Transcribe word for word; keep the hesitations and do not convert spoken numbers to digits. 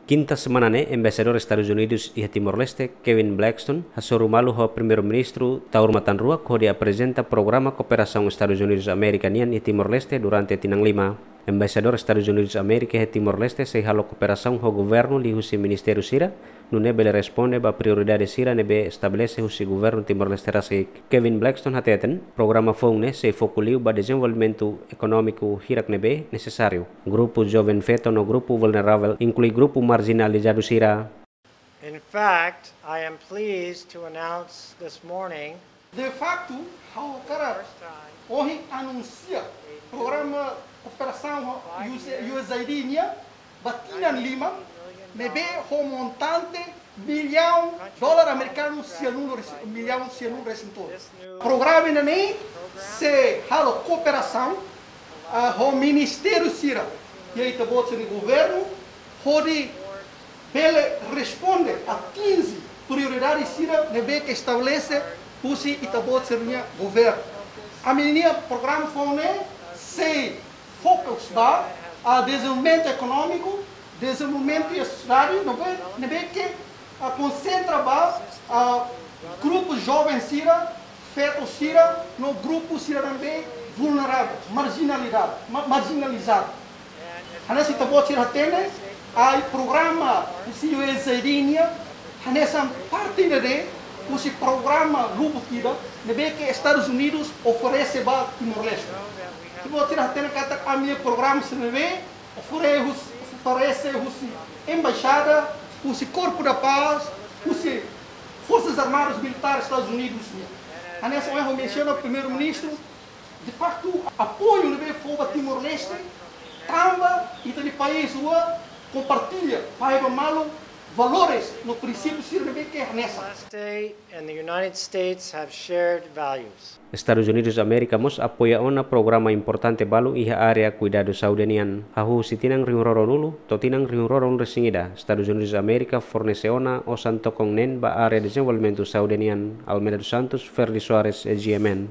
Kinta semana ne'e, Embaixadór Estadus Unidus iha Timor-Leste, Kevin Blackstone, hasoru malu ho Primeiru-Ministru Taur Matan Ruak hodi aprezenta programa kooperasaun Estadus Unidus Amérika nian iha Timor-Leste durante tinan lima. Embaixadór Estadus Unidus Amérika iha Timor-Leste sei halo kooperasaun ho governu liuhusi ministériu sira, nune'e bele responde ba prioridade sira ne'ebé estabelese husi governu Timor-Leste rasik. Kevin Blackstone hateten, programa foun ne'e sei foku liu ba dezenvolvimentu ekonómiku hirak ne'ebé nesesáriu. Grupu joven feto no grupu vulneravel, inklui grupu marjinalizadu sira. In fact, I am pleased to announce this morning De faktu, ha'u hakarak ohin anunsia programa kooperasaun ho U S A I D nian ba tinan lima, ne'ebé ho montante millaun dolar amerikanu sianulu resi-, millaun sianulu resin tolu. Programa ida-ne'e sei halo kooperasaun, ah, ho ministériu sira iha ita-boot sira-nia governu, hodi bele responde, atinje prioridade sira ne'ebé ke estabelese husi ita-boot sira-nia governu. Ami-nia programa foun ne'e sei fokus ba, ah, dezenvolvimentu ekonómiku, dezenvolvimentu iha sosiedade, ne'ebé, ne'ebé ke, ah, konsentra ba, ah, grupu joven sira, feto sira, no grupu sira ne'ebé vulneravel, marjinalidade, ma-, marjinalizadu. Hanesan ita-boot sira hatene, ai programa husi U S A I D nian, hanesan parte ida husi programa lubuk ida ne'ebé ke Estadus Unidus oferese ba Timor-Leste. Ita-boot sira hatene katak ami-nia programa sira ne'ebé ofere-, hus-, oferese husi embaixada, husi Corpo da Paz, husi Forsas Armadas Militares Estadus Unidus nian. Hanesan ohin ha'u mensiona Primeiru-Ministru, de faktu, apoiu ne'ebé fó ba Timor-Leste, tanba ita-nia país rua kompartilla, fahe ba malu valores no prinsípiu sira ne'ebé ke hanesan. State and the United States have shared values. Estadus Unidus Amérika mós apoia ona programa importante balu iha área kuidadu saúde nian. Hahú husi tinan rihun rua ruanulu to'o tinan rihun rua ruanulu resin ida, Estadus Unidus Amérika fornese ona osan tokon neen ba área dezenvolvimentu saúde nian. Almeida dos Santos, Ferdi Soares, E G M N.